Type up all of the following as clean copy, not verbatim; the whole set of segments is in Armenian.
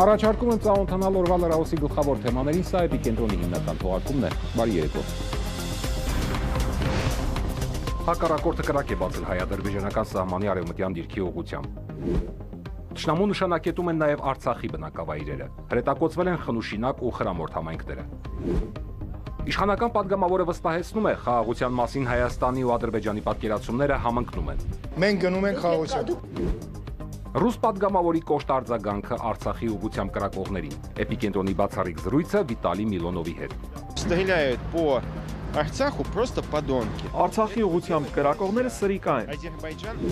Առաջարկում եմ ծանոթանալ օրվա լրահոսի գլխավոր թեմաներին, սա Էպիկենտրոնի հիմնական թողարկումն է։ Բարի երեկո։ Հակառակորդը կրակ է բացել հայ-ադրբեջանական սահմանի արևմտյան դիրքի ուղղությամբ։ Թշնամու նշանակետում են նաև Արցախի բնակավայրերը։ Հրետակոծվել են Խնուշինակ ու Խրամորդ համայնքները։ Իշխանական падգամավորը վստահեցնում է, խաղաղության մասին Հայաստանի ու Ադրբեջանի պատկերացումները համընկնում են։ Մենք գնում ենք խաղաղության։ Ռուս падգամավորի կոշտ արձագանքը Արցախի ուղղությամբ կրակողներին։ Էպիկենտրոնի բացառիկ զրույցը Վիտալի Միլոնովի հետ։ Стреляют по Арцаху просто подонки. Արցախի ուղղությամբ կրակողները սրիկա են։ Ադրբեջան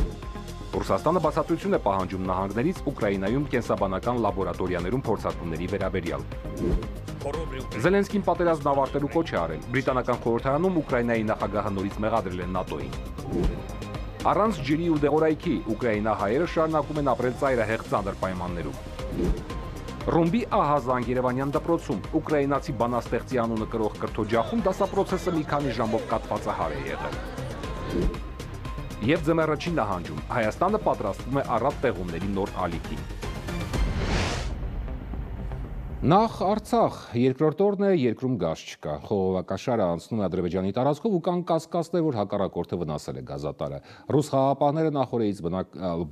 Ռուսաստանը բացատրություն է պահանջում նահանգներից Ուկրաինայում կենսաբանական լաբորատորիաներում փորձարկումների վերաբերյալ։ Զելենսկին պատերազմն ավարտելու կոչ է արել։ Բրիտանական խորհրդարանում Ուկրաինայի նախագահը նորից մեղադրել են ՆԱՏՕ-ին։ Առանց ջրի ու դեղորայքի ուկրաինահայերը շարունակում են ապրել ծայրահեղ ծանր պայմաններում։ Ռումբի ահազանգ Երևանյան դպրոցում ուկրաինացի բանաստեղծի անունը կրող կրթօջախում դասապրոցեսը մի քանի ժամով կաթվածահար է եղել։ Եվ ձմեռը չի նահանջում, Հայաստանը պատրաստվում է առատ տեղումների նոր ալիքի։ Նախ Արցախ, երկրորդ օրն է, երկրում գազ չկա։ Խողովակաշարը անցնում է Ադրբեջանի տարածքով ու կան կասկածներ, որ հակառակորդը վնասել է գազատարը։ Ռուս խաղաղապահները նախորդից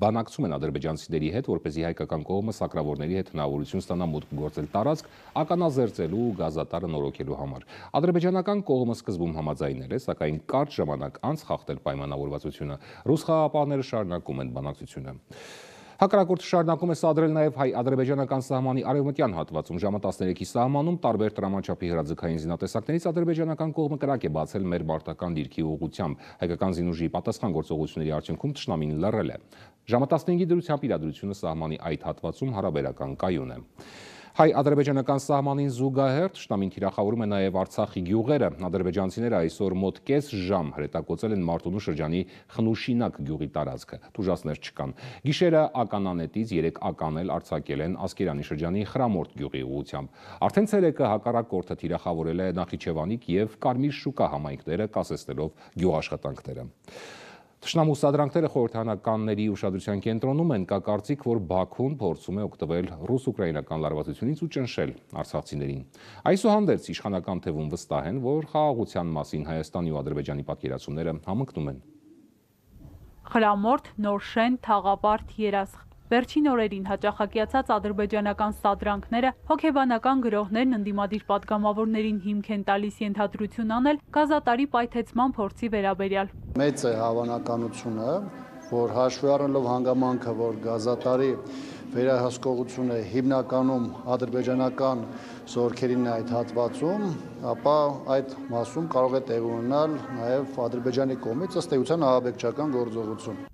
բանակցում են ադրբեջանցիների հետ, որպեսզի հայկական կողմը սակրավորների հետ հնարավորություն ստանա մուտք գործել տարածք, ականազերծելու ու գազատարը նորոգելու համար։ Ադրբեջանական կողմը սկզբում համաձայնել է, սակայն կարճ ժամանակ անց խախտել պայմանավորվածությունը։ Ռուս խաղաղապահները շարունակում են բանակցությունը։ Հակառակորդը շարունակում է սադրել նաև հայ-ադրբեջանական սահմանի արևմտյան հատվածում ժամը 13-ի սահմանում տարբեր տրամաչափի հրաձգային զինատեսակներից ադրբեջանական կողմը կրակ է բացել մեր մարտական դիրքի ուղղությամբ։ Հայկական զինուժի պատասխան գործողությունների արդյունքում թշնամին լռել է։ Ժամը 15-ի դրությամբ իրադրությունը սահմանի այդ հատվածում հարաբերական կայուն է։ Հայ-ադրբեջանական սահմանին զուգահեռ թշնամին թիրախավորում է նաև Արցախի գյուղերը։ Ադրբեջանցիները այսօր մոտ կես ժամ հրետակոծել են Մարտունու շրջանի Խնուշինակ գյուղի տարածքը։ Տուժածներ չկան։ Գիշերը ականանետից 3 ականել արձակել են Ասկերանի շրջանի Խրամորդ գյուղի ուղղությամբ։ Արդեն ցերեկը հակառակորդը թիրախավորել է Նախիջևանիկ եւ Կարմիր շուկա համայնքները, կասեցնելով գյուղաշխատանքները։ Թշնամու սադրանքները խորհրդարանականների ուշադրության կենտրոնում են, կա կարծիք, որ Բաքուն փորձում է օգտվել ռուս-ուկրաինական լարվածությունից ու ճնշել արցախցիներին։ Այսուհանդերձ իշխանական թևում վստահ են, որ խաղաղության մասին Հայաստանի ու Ադրբեջանի պատկերացումները համընկնում են։ Խրամորդ, Նորշեն, Թաղապարտ, Երասխ։ Վերջին օրերին հաճախակիացած ադրբեջանական սադրանքները հոգեբանական գրողներն ընդդիմադիր պատգամավորներին հիմք են տալիս ենթադրություն անել գազատարի պայթեցման փորձի վերաբերյալ։ Մեծ է հավանականությունը, որ հաշվի առնելով հանգամանքը, որ գազատարի վերահսկողությունը հիմնականում ադրբեջանական զորքերին է այդ հատվածում, ապա այդ մասում կարող է տեղի ունենալ նաև Ադրբեջանի կողմից ըստ էության ահաբեկչական գործողություն։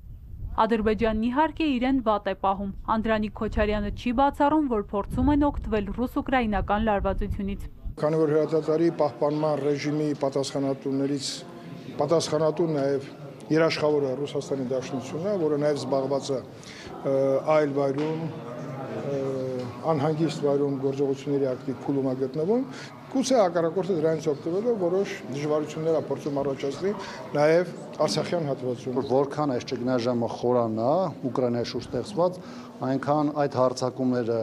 Ադրբեջանն իհարկե իրեն վատ է պահում։ Անդրանիկ Քոչարյանը չի բացառում, որ փորձում են օգտվել ռուս-ուկրաինական լարվածությունից։ Քանի որ հրադադարի պահպանման ռեժիմի պատասխանատուներից պատասխանատու նաև երաշխավորը Ռուսաստանի Դաշնությունն է, որը նաև զբաղված է այլ վայրում անհանգիստ վայրում գործողությունների ակտիվ փուլում է գտնվում, գուցե հակառակորդը դրանից օգտվելով որոշ դժվարություններ է փորձում առաջացնել նաև Արցախյան հատվածում։ Որքան այս ճգնաժամը խորանա Ուկրաինայի շուրջ ստեղծված, այնքան այդ հարձակումները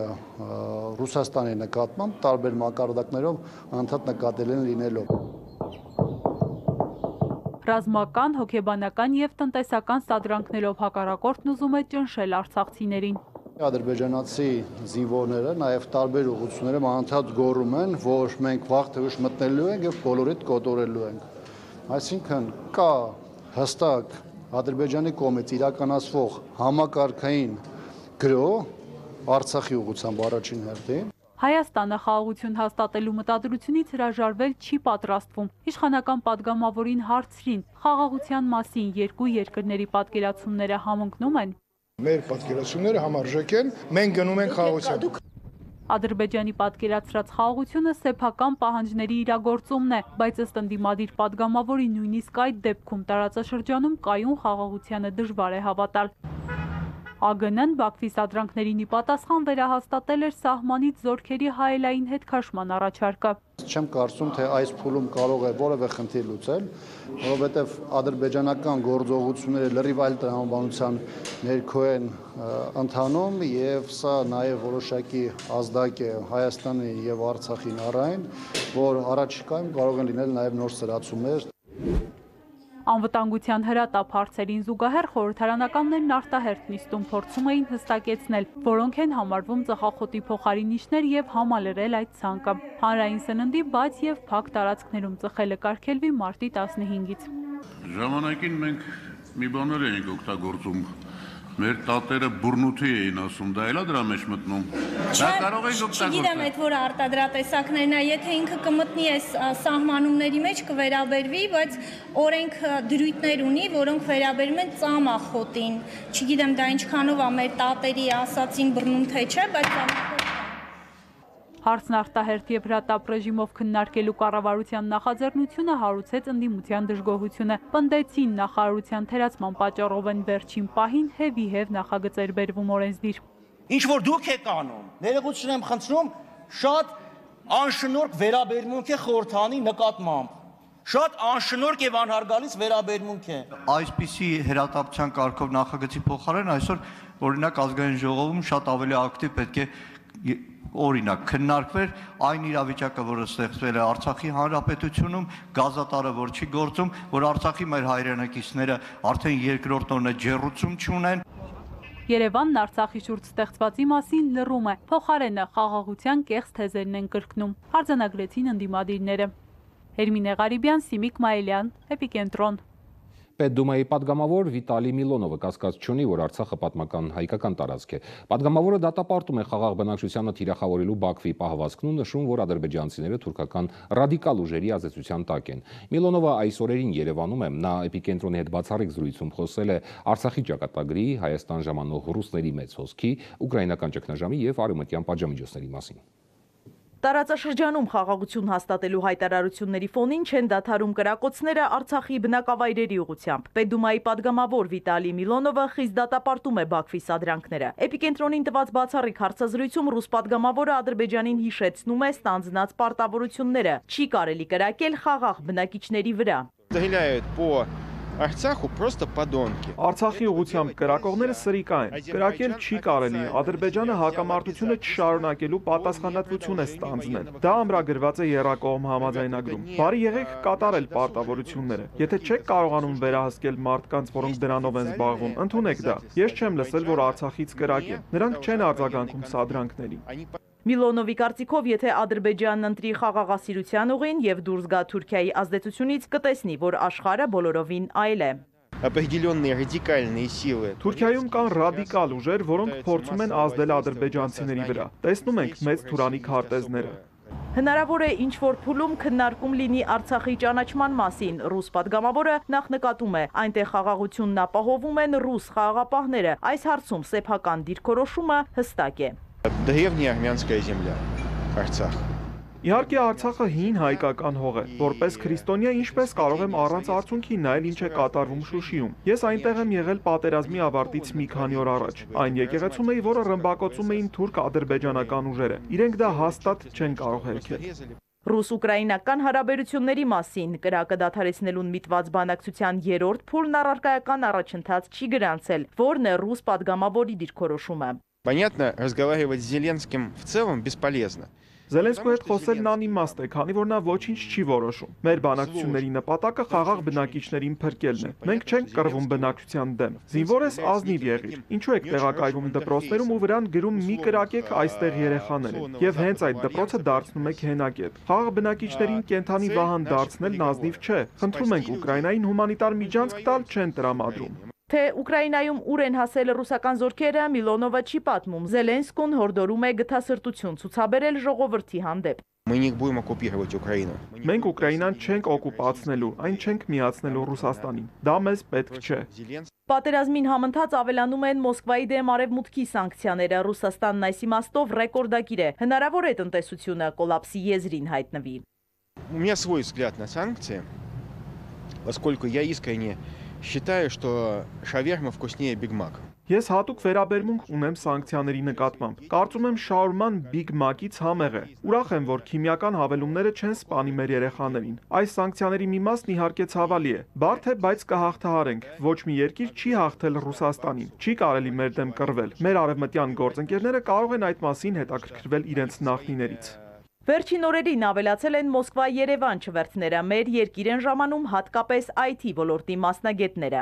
Ռուսաստանի նկատմամբ տարբեր մակարդակներով անդադ նկատելի են լինելով։ Ռազմական, հոգեբանական եւ տնտեսական սադրանքներով հակառակորդն ուզում է ճնշել արցախցիներին։ Ադրբեջանացի զինվորները նաև տարբեր ուղղություններով անընդհատ գոռում են, որ մենք վաղ թե ուշ մտնելու ենք եւ բոլորիդ կոտորելու ենք։ Այսինքն կա հստակ Ադրբեջանի կողմից իրականացվող համակարգային գրոհ Արցախի ուղղությամբ առաջին հերթին։ Հայաստանը խաղաղություն հաստատելու մտադրությունից հրաժարվել չի պատրաստվում։ Իշխանական падգամավորին հարցրին խաղաղության մասին երկու երկրների պատկերացումները համընկնում են։ Մեր պատկերացումները համարժեք են, մենք գնում ենք խաղաղության։ Ադրբեջանի պատկերացրած խաղաղությունը սեփական պահանջների իրագործումն է, բայց ըստ ընդդիմադիր падգամավորի նույնիսկ այդ դեպքում տարածաշրջանում կայուն խաղաղությանը դժվար է հավատալ։ ԱԳՆ-ն Բաքվի սադրանքներին ի պատասխան վերահաստատել էր սահմանից զորքերի հայելային հետքաշման առաջարկը։ Չեմ կարծում, թե այս փուլում կարող է որևէ խնդիր լուծել, որովհետև ադրբեջանական գործողությունները լրիվ այլ տրամաբանության ներքո են ընթանում եւ սա նաեւ որոշակի ազդակ է Հայաստանի եւ Արցախի նարային, որ առաջիկայում կարող են լինել նաեւ նոր սրացումներ։ Անվտանգության հրատապ հարցերին զուգահեռ խորհրդարանականներն արտահերթ նիստում փորձում էին հստակեցնել, որոնք են համարվում ծխախոտի փոխարինիչներ եւ համալրել այդ ցանկը։ Հանրային սննդի բաց եւ փակ տարածքներում ծխելը կարգելվի մարտի 15-ից։ Ժամանակին մենք մի բաներ էինք օգտագործում։ Մեր տատերը բուրնութի էին ասում, դա էլա դրա մեջ մտնում։ Դա կարող եք օգտագործել։ Չգիտեմ, այդ որ արտադրատեսակներն է, եթե ինքը կմտնի այս սահմանումների մեջ կվերաբերվի, բայց օրենք դրույթներ ունի, որոնք վերաբերում են ծամախոտին։ Չգիտեմ, դա ինչքանով է մեր տատերի ասածին բռնում թե չէ, բայց Հարցն արտահերթ եւ հրատապ ռեժիմով քննարկելու կառավարության նախաձեռնությունը հարուցեց ընդդիմության դժգոհությունը։ Պնդեցին նախարարության թերացման պատճառով են վերջին պահին հեվի-հև նախագծեր բերվում օրենսդիր։ Ինչ որ դուք եք անում, ներողություն եմ խնդրում, շատ անշնորհք վերաբերմունք է խորհրդանի նկատմամբ։ Շատ անշնորհք եւ անհարգալից վերաբերմունք է։ Այսպիսի հրատապության կարգով նախագծի փոխարեն այսօր օրինակ ազգային ժողովում շատ ավելի ակտիվ պետք է օրինակ քննարկվեր այն իրավիճակը, որը ստեղծվել է Արցախի հանրապետությունում, գազատարը, որ չի գործում, որ Արցախի մեր հայրենակիցները արդեն երկրորդ օրն է ջեռուցում չունեն։ Երևանն Արցախի շուրջ ստեղծվածի մասին լռում է, փոխարենը խաղաղության կեղծ թեզերն են կրկնում, արձանագրեցին ընդդիմադիրները։ Էրմինե Ղարիբյան, Սիմիկ Մայիլյան, Էպիկենտրոն։ Պետդումայի падգամավոր Վիտալի Միլոնովը կասկած չունի, որ Արցախը պատմական հայկական տարածք է։ Պատգամավորը դատապարտում է խաղաղ բնակչությանը թիրախավորելու Բաքվի պահվածքն ու նշում, որ ադրբեջանցիները թուրքական ռադիկալ ուժերի ազդեցության տակ են։ Միլոնովը այս օրերին Երևանում է, նա Էպիկենտրոնի հետ բացառիկ զրույցում խոսել է Արցախի ճակատագրի, Հայաստան ժամանող ռուսների մեծ հոսքի, ուկրաինական ճգնաժամի եւ արևմտյան պատժամիջոցների մասին։ Տարածաշրջանում խաղաղություն հաստատելու հայտարարությունների ֆոնին չեն դադարում կրակոցները Արցախի բնակավայրերի ուղղությամբ։ Պետդումայի падգամավոր Վիտալի Միլոնովը խիստ դատապարտում է Բաքվի սադրանքները։ Էպիկենտրոնին տված բացառիկ հարցազրույցում ռուս падգամավորը Ադրբեջանին հիշեցնում է ստանձնած պարտավորությունները։ Չի կարելի կրակել խաղաղ բնակիչների վրա։ Արցախը պրոստը падոնկի։ Արցախի ուղղությամբ կրակողները սրիկա են։ Կրակել չի կարելի։ Ադրբեջանը հակամարտությունը չշարունակելու պատասխանատվություն է ստանձնել։ Դա ամրագրված է եռակողմ համաձայնագրում։ Բարի եղեք կատարել պարտավորությունները։ Եթե չեք կարողանում վերահսկել մարդկանց, որոնք դրանով են զբաղվում, ընդունեք դա։ Ես չեմ լսել, որ Արցախից կրակ է։ Նրանք չեն արձագանքում սադրանքներին։ Միլոնովի կարծիքով, եթե Ադրբեջանն ընտրի խաղաղասիրության ուղին եւ դուրս գա Թուրքիայի ազդեցությունից, կտեսնի, որ աշխարհը բոլորովին այլ է։ Թուրքիայում կան ռադիկալ ուժեր, որոնք փորձում են ազդել ադրբեջանցիների վրա։ Տեսնում ենք մեծ թուրանի քարտեզները։ Հնարավոր է ինչ-որ փուլում քննարկում լինի Արցախի ճանաչման մասին։ Ռուս падգամավորը նախ նկատում է, այնտեղ խաղաղությունն ապահովում են ռուս խաղաղապահները։ Այս հարցում սեփական դիրքորոշումը հստակ է։ Древняя армянская земля, Արցախ։ Իհարկե Արցախը հին հայկական հող է, որպես քրիստոնյա ինչպես կարող եմ առանց արցունքի նայել ինչ է կատարվում Շուշիում։ Ես այնտեղ եմ եղել պատերազմի ավարտից մի քանի օր առաջ։ Այն եկեղեցում էի, որը ռմբակոծում էին թուրք-ադրբեջանական ուժերը։ Իրենք դա հաստատ չեն կարող հերքել։ Ռուս-ուկրաինական հարաբերությունների մասին կրակը դադարեցնելուն միտված բանակցության երրորդ փուլն առարկայական առաջընթաց չի գրանցել, որն է ռուս падգամավորի դիրքորոշումը։ Понятно, разговаривать с Зеленским в целом бесполезно. Զելենսկու հետ խոսելն անիմաստ է, քանի որ նա ոչինչ չի որոշում։ Մեր բանակցությունների նպատակը խաղաղ բնակիչներին փրկելն է։ Մենք չենք կռվում բնակչության դեմ։ Զինվոր ես ազնիվ եղիր։ Ինչու եք տեղակայվում դպրոցներում ու վրան գրում մի կրակեք այստեղ երեխաներ են։ Եվ հենց այդ դպրոցը դարձնում եք հենակետ։ Խաղաղ բնակիչներին կենթանի վահան դարձնելն ազնիվ չէ։ Խնդրում ենք Ուկրաինային հումանիտար միջանցք տալ չեն տրամադրում։ Թե Ուկրաինայում ուր են հասել ռուսական զորքերը, Միլոնովը չի պատմում։ Զելենսկուն հորդորում է գթասրտություն ցուցաբերել ժողովրդի հանդեպ։ Մենք Ուկրաինան չենք օկուպացնելու, այն չենք միացնելու Ռուսաստանին։ Դա մեզ պետք չէ։ Պատերազմին համընթաց ավելանում են Մոսկվայի դեմ արևմուտքի սանկցիաները։ Ռուսաստանն այս իմաստով ռեկորդակիր է։ Հնարավոր է տնտեսությունը կոլապսի եզրին հայտնվի։ У меня свой взгляд на санкции, поскольку я искренне Считаю, что шаверма вкуснее Биг Мак. Ես հատուկ վերաբերմունք ունեմ սանկցիաների նկատմամբ։ Կարծում եմ շահորման Big Mac-ից համեղ է։ Ուրախ եմ, որ քիմիական հավելումները չեն սպանի մեր երեխաներին։ Այս սանկցիաների մի մասն իհարկե ցավալի է։ Բարդ է, բայց կհաղթահարենք։ Ոչ մի երկիր չի հաղթել Ռուսաստանին։ Չի կարելի մեր դեմ կռվել։ Մեր արևմտյան գործընկերները կարող են այդ մասին հետաքրքրվել իրենց նախնիներից։ Վերջին օրերին ավելացել են Մոսկվա-Երևան չվերթները, մեր երկիր են ժամանում հատկապես IT ոլորտի մասնագետները։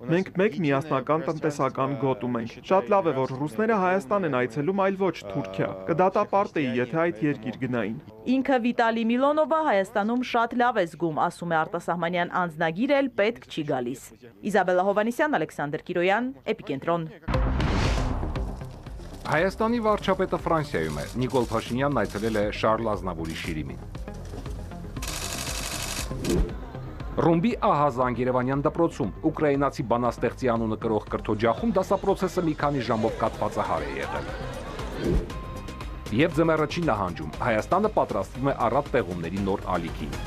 Մենք մեկ միասնական տնտեսական գոտում ենք։ Շատ լավ է, որ ռուսները Հայաստան են այցելում, այլ ոչ Թուրքիա։ Կդատապարտեի, եթե այդ երկիր գնային։ Ինքը Վիտալի Միլոնովը Հայաստանում շատ լավ է զգում, ասում է արտասահմանյան անձնագիր էլ պետք չի գալիս։ Իզաբելլա Հովանեսյան, Ալեքսանդր Կիրոյան, Էպիկենտրոն։ Հայաստանի վարչապետը Ֆրանսիայում է։ Նիկոլ Փաշինյանն այցելել է Շարլ Ազնավուրի շիրիմին։ Ռումբի ահազանգ Երևանյան դպրոցում ուկրաինացի բանաստեղծի անունը կրող կրթօջախում դասապրոցեսը մի քանի ժամով կաթվածահար է եղել։ Եվ ձմեռը չի նահանջում, Հայաստանը պատրաստվում է առատ տեղումների նոր ալիքին։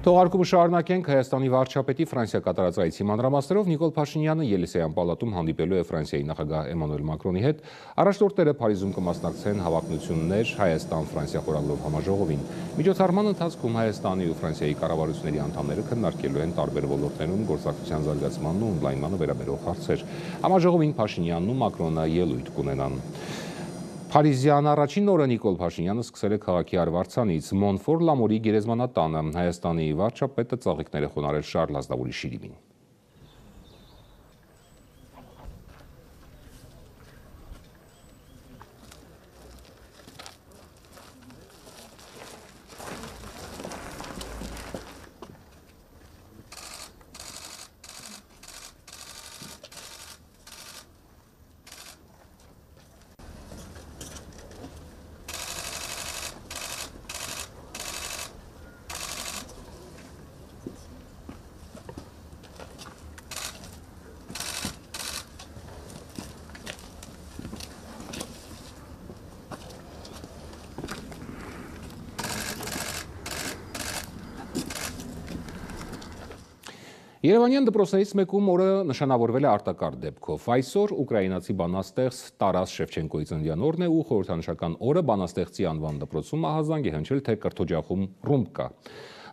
Թողարկումը շարունակենք Հայաստանի վարչապետի Ֆրանսիա կատարած այցի մանրամասներով Նիկոլ Փաշինյանը Ելիսեյան պալատում հանդիպելու է Ֆրանսիայի նախագահ Էմանուել Մակրոնի հետ, առաջնորդները Փարիզում կմասնակցեն հավակնություններ Հայաստան-Ֆրանսիա խորհրդով համաժողովին։ Միջոցառման ընթացքում Հայաստանի ու Ֆրանսիայի կառավարությունների անդամները քննարկելու են տարբեր ոլորտներում գործակցության զարգացմանն ու ընդլայնմանը վերաբերող հարցեր։ Համաժողովին Փաշինյանն ու Մակրոնը ելույթ կունենան։ Փարիզյան առաջին օրը Նիկոլ Փաշինյանը սկսել է քաղաքի արվարձանից Մոնֆոր Լամորի գերեզմանատանը, Հայաստանի վարչապետը ծաղիկներ է խոնարհել Շարլ Ազնավուրի շիրիմին։ Երևանյան դպրոցներից մեկում օրը նշանավորվել է արտակարգ դեպքով։ Այսօր ուկրաինացի բանաստեղծ Տարաս Շևչենկոյի ծննդյան օրն է ու խորհրդանշական օրը բանաստեղծի անվան դպրոցում ահազանգ է հնչել, թե կրթօջախում ռումբ կա։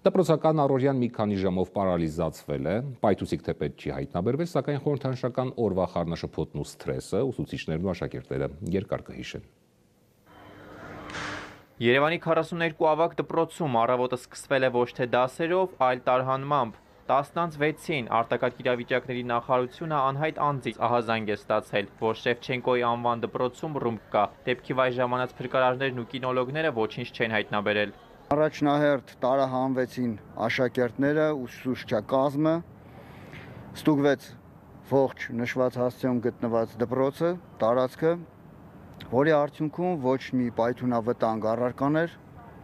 Դպրոցական առօրյան մի քանի ժամով պարալիզացվել է, պայթուցիկ թեպետ չի հայտնաբերվել, սակայն խորհրդանշական օրվա խառնաշփոթն ու սթրեսը ուսուցիչներն ու աշակերտները երկար կհիշեն։ Երևանի 42 ավագ դպրոցում առավոտը սկսվել է ոչ թե դասերով, այլ տարհանմամբ։ 10:06-ին արտակարգ իրավիճակների նախարարությունը անհայտ անձից ահազանգ է ստացել, որ Շևչենկոյի անվան դպրոցում ռումբ կա։ Դեպքի վայր ժամանած փրկարարներն ու կինոլոգները ոչինչ չեն հայտնաբերել։ Առաջնահերթ տարահանվեցին աշակերտները, ուսուցչակազմը, ստուգվեց ողջ նշված հասցեում գտնված դպրոցը, տարածքը, որի արդյունքում ոչ մի պայթունավտանգ առարկաներ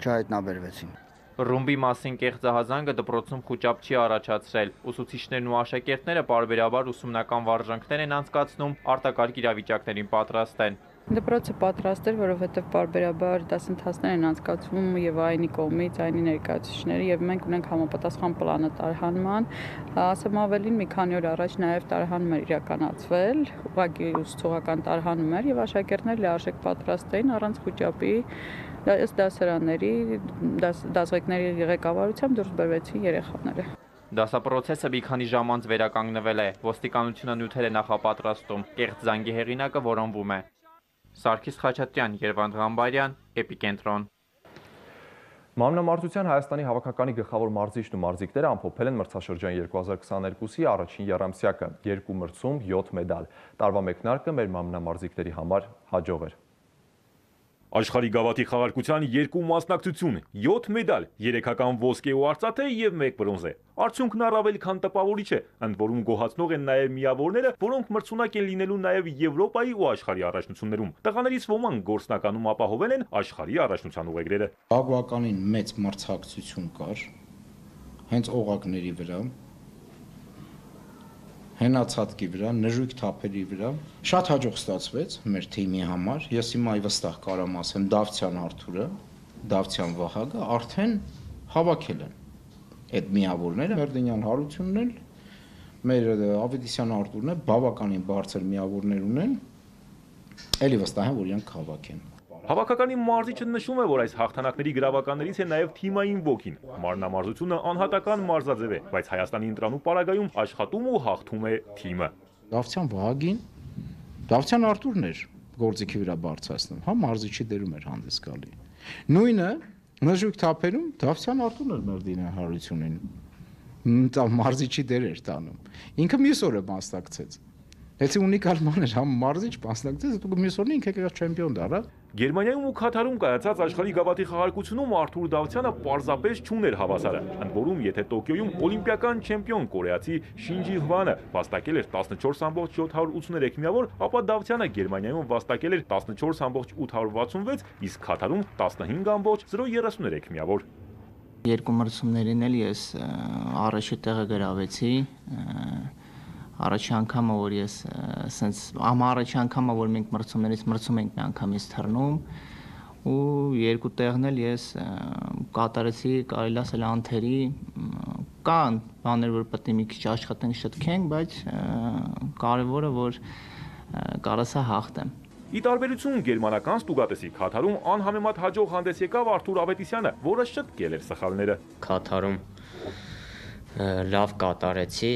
չհայտնաբերվեցին։ Ռումբի մասին կեղծ ահազանգը դպրոցում խուճապ չի առաջացրել։ Ուսուցիչներն ու աշակերտները պարբերաբար ուսումնական վարժանքներ են անցկացնում, արտակարգ իրավիճակներին պատրաստ են։ Դպրոցը պատրաստ էր, որովհետև պարբերաբար դասընթացներ են անցկացվում եւ այնի կողմից, այնի ներկայացուցիչների եւ մենք ունենք համապատասխան պլանը տարհանման։ Ասեմ ավելին, մի քանի օր առաջ նաեւ տարհանում էր իրականացվել, ուղղակի ուսուցողական տարհանում էր եւ աշակերտները լիարժեք պատրաստ էին առանց խուճապի ըստ դասարանների, դասղեկների ղեկավարությամբ դուրս բերվեցին երեխաները։ Դասապրոցեսը մի քանի ժամ անց վերականգնվել է, ոստիկանությունը նյութեր է նախապատրաստում, կեղծ զանգի հեղինակը որոնվում է։ Սարգիս Խաչատրյան, Երվանդ Ղամբարյան, Էպիկենտրոն։ Մանրամարզության Հայաստանի հավաքականի գլխավոր մարզիչն ու մարզիկները ամփոփել են մրցաշրջան 2022-ի առաջին եռամսյակը, 2 մրցում, 7 մեդալ։ Տարվա մեկնարկը մեր մանրամարզիկների համար հաջող էր։ Աշխարհի գավաթի խաղարկության 2 մասնակցություն, 7 մեդալ, 3-ական ոսկե ու արծաթե եւ 1 բրոնզե։ Արդյունքն առավել քան տպավորիչ է, ընդ որում գոհացնող են նաեւ միավորները, որոնք մրցունակ են լինելու նաեւ Եվրոպայի ու աշխարհի առաջնություններում։ Տղաներից ոմանք գործնականում ապահովել են աշխարհի առաջնության ուղեգրերը։ Բավականին մեծ մրցակցություն կար հենց օղակների վրա, հենացածքի վրա, նժույգ թափերի վրա։ Շատ հաջող ստացվեց մեր թիմի համար։ Ես հիմա վստահ կարամ ասեմ, Դավթյան Արթուրը, Դավթյան Վահագը արդեն հավաքել են այդ միավորները, Մերդենյան Հարությունն էլ, մեր Ավետիսյան Արտուրն է, բավականին բարձր միավորներ ունեն, էլի վստահ եմ, որ իրանք քաղաք են։ Հավաքականի մարզիչը նշում է, որ այս հաղթանակների գրավականներից է նաև թիմային ոգին։ Մարմնամարզությունը անհատական մարզաձև է, բայց Հայաստանի ընտրանու պարագայում աշխատում ու հաղթում է թիմը։ Դավթյան Վահագին, Դավթյան Արտուրն էր գործիքի վրա բարձրացնում, հա մարզիչի դերում էր հանդես գալի։ Նույնը նժույգ թափերում Դավթյան Արտուրն էր Մերդենյան Հարությունին, մարզիչի դեր էր տանում։ Ինքը մյուս օրը մասնակցեց։ Եթե ունիկալ ման էր համ մարզիչ մասնակցեց, դու մյուս օրն ինքը եկավ չեմպիոն դառա։ Գերմանիայում ու Քաթարում կայացած աշխարհի գավաթի խաղարկությունում Արթուր Դավթյանը պարզապես չուներ հավասարը, ընդ որում եթե Տոկիոյում օլիմպիական չեմպիոն կորեացի Շինջի Հվանը վաստակել էր 14.783 միավոր, ապա Դավթյանը Գերմանիայում վաստակել էր 14.866, իսկ Քաթարում 15.033 միավոր։ Երկու մրցումներին էլ ես առաջի տեղը գրավեցի։ Առաջի անգամը, որ ես սենց առաջի անգամը, որ մենք մրցումներից մրցում ենք մի անգամից թռնում ու երկու տեղն էլ ես կատարեցի, կարելի ասել անթերի, կան բաներ, որ պետք է մի քիչ աշխատենք, շտկենք, բայց կարևորը, որ կարասա հաղթեմ։ Ի տարբերություն գերմանական ստուգատեսի Քաթարում անհամեմատ հաջող հանդես եկավ Արթուր Ավետիսյանը, որը շտկել էր սխալները։ Քաթարում լավ կատարեցի։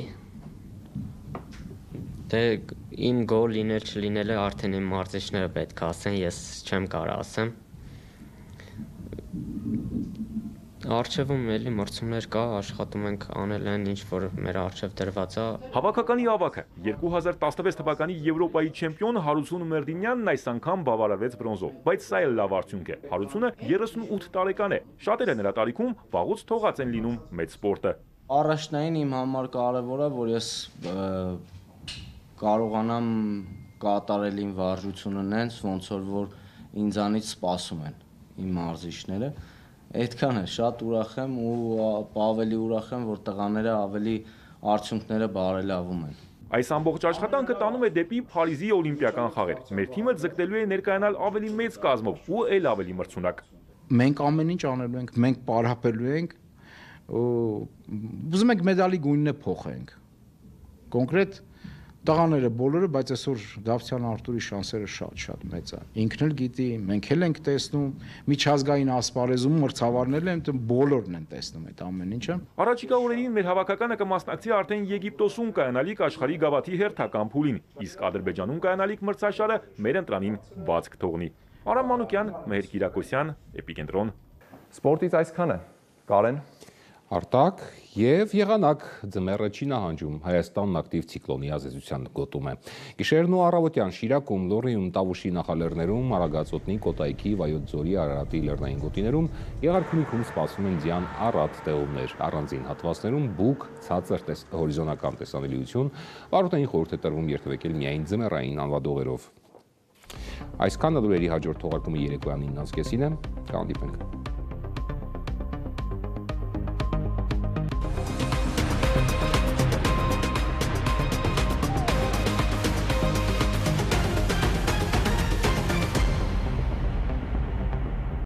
Դե իմ գոլ լինել չլինելը արդեն իմ մարզիչները պետք է ասեն, ես չեմ կարող ասեմ։ Արչևում էլի մրցումներ կա, աշխատում ենք անել այն, ինչ որ մեր արչև դրված է։ Հավաքականի ավագը 2016 թվականի Եվրոպայի չեմպիոն Հարություն Մերդենյանն այս անգամ բավարարվեց բրոնզով, բայց սա էլ լավ արդյունք է։ Հարությունը 38 տարեկան է։ Շատերը նրա տարիքում վաղուց թողած են լինում մեծ սպորտը։ Առաջնային իմ համար կարևորը, որ ես կարողանամ կատարել իմ վարժությունը նենց, ոնց որ ինձանից սպասում են իմ մարզիչները։ Այդքան է, շատ ուրախ եմ ու ավելի ուրախ եմ, որ տղաները ավելի արդյունքները բարելավում են։ Այս ամբողջ աշխատանքը տանում է դեպի Փարիզի օլիմպիական խաղեր։ Մեր թիմը ձգտելու է ներկայանալ ավելի մեծ կազմով ու էլ ավելի մրցունակ։ Մենք ամեն ինչ անելու ենք, մենք պարապելու ենք ու ուզում ենք մեդալի գույնը փոխենք։ Կոնկրետ տղաները բոլորը, բայց այսօր Դավթյան Արտուրի շանսերը շատ մեծ է։ Ինքն էլ գիտի, մենք էլ ենք տեսնում, միջազգային ասպարեզում մրցավարներն են, բոլորն են տեսնում այդ ամեն ինչը։ Առաջիկա օրերին մեր հավաքականը կմասնակցի արդեն Եգիպտոսում կայանալիք աշխարհի գավաթի հերթական փուլին, իսկ Ադրբեջանում կայանալիք մրցաշարը մեր ընտրանին բաց կթողնի։ Արամ Մանուկյան, Մեհեր Կիրակոսյան, Էպիկենտրոն։ Սպորտից այսքան է։ Կարեն Արտակ եւ եղանակ ձմեռը չի նահանջում, Հայաստանն ակտիվ ցիկլոնի ազդեցության գոտում է։ Գիշերն ու առավոտյան Շիրակում, Լոռիում, Տավուշի նախալեռներում, Արագածոտնի, Կոտայքի, Վայոց ձորի, Արարատի լեռնային գոտիներում, Եղարքունիքում սպասվում են ձյան առատ տեղումներ, առանձին հատվածներում բուք, ցածր հորիզոնական տեսանելիություն, վարորդային խորհուրդ է տրվում երթևեկել միայն ձմեռային անվադողերով։ Այսքանը լուրերի հաջորդ թողարկումը երեկոյան 9:30-ին է, կհանդիպենք։